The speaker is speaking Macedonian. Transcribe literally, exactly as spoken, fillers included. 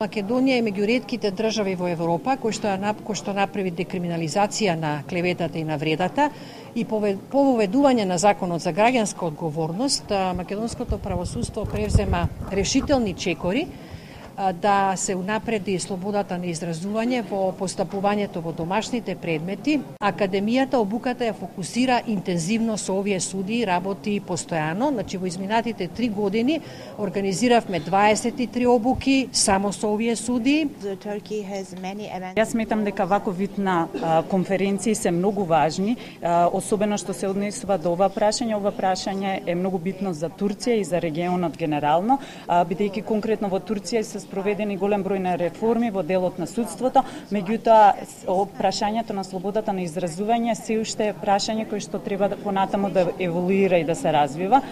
Македонија е меѓу ретките држави во Европа кои што, кои што направи декриминализација на клеветата и на вредата и по воведување на законот за граѓанска одговорност, македонското правосудство превзема решителни чекори да се унапреди слободата на изразување во постапувањето во домашните предмети. Академијата обуката ја фокусира интензивно со овие судии, работи постојано. Значи во изминатите три години организиравме дваесет и три обуки само со овие судии. Јас сметам дека ваков вид на конференции се многу важни, особено што се однесува до ова прашање. Ова прашање е многу битно за Турција и за регионот генерално, бидејќи конкретно во Турција се спроведени голем број на реформи во делот на судството, меѓутоа прашањето на слободата на изразување се уште е прашање кое што треба да понатаму да еволуира и да се развива.